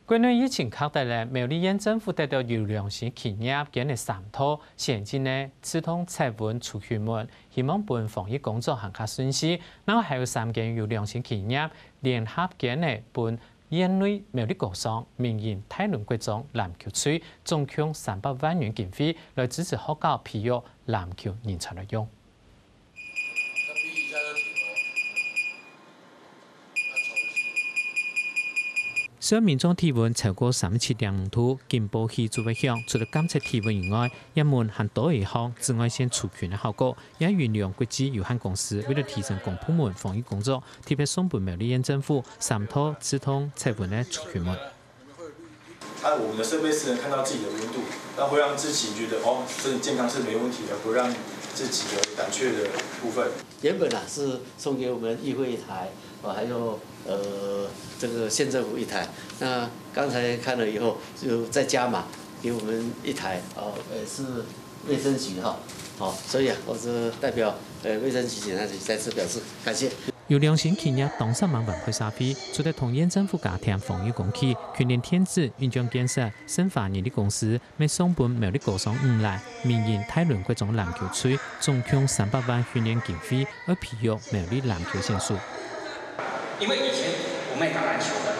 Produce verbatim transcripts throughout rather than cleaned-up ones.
國內疫情較大咧，苗栗縣政府得到有良心企業捐个三套洗潔精个自動室溫除菌門，希望分防疫工作行較順序。另外還有三間有良心企業聯合捐个分縣內苗栗高商、民營大崙國中籃球隊，總共三百萬元經費，來支持學校培育籃球人才來用。 雖然民眾體溫超過三十七點五度，警報器就會響，除了監測體溫以外，也問還多一項紫外線除菌个效果。也有聯國際有限公司為了提升公部門防疫工作，特別送分苗栗縣政府三套自動測溫个除菌門。 它我们的设备是能看到自己的温度，那会让自己觉得哦，身体健康是没问题的，不让自己有胆怯的部分。原本啊是送给我们议会一台，哦，还有呃这个县政府一台。那刚才看了以后，就再加码给我们一台，哦，也是卫生局哈，好，所以啊，我是代表呃卫生局警察局再次表示感谢。 有良心企業當煞猛分配社會，除了同縣政府加添防疫工具、訓練電子、運轉建設、生化人力公司，乜送分苗栗高商五欄、民營大崙國中籃球隊，總共三百萬訓練經費，愛培育苗栗籃球選手。因為以前我們也打籃球的，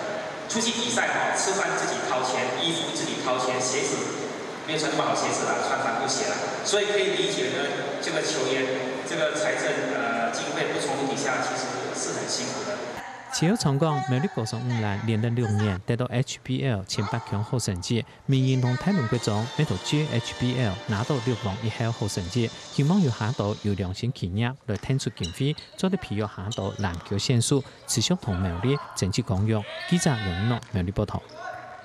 出去比賽哈，吃飯自己掏錢，衣服自己掏錢，鞋子没有穿那么好鞋子啦，穿帆布鞋啦，所以可以理解呢，这个球员这个财政呃经费不充足底下，其实是很辛苦的。徐友昌講，苗栗高商五欄連續六年得到HBL前八強好成績，民營同大崙國中乜都借HBL拿到六王一后好成績，希望有下多有良心企業來騰出經費，做得培育下多籃球選手，持續同苗栗爭取光榮。記者楊一諾苗栗報導。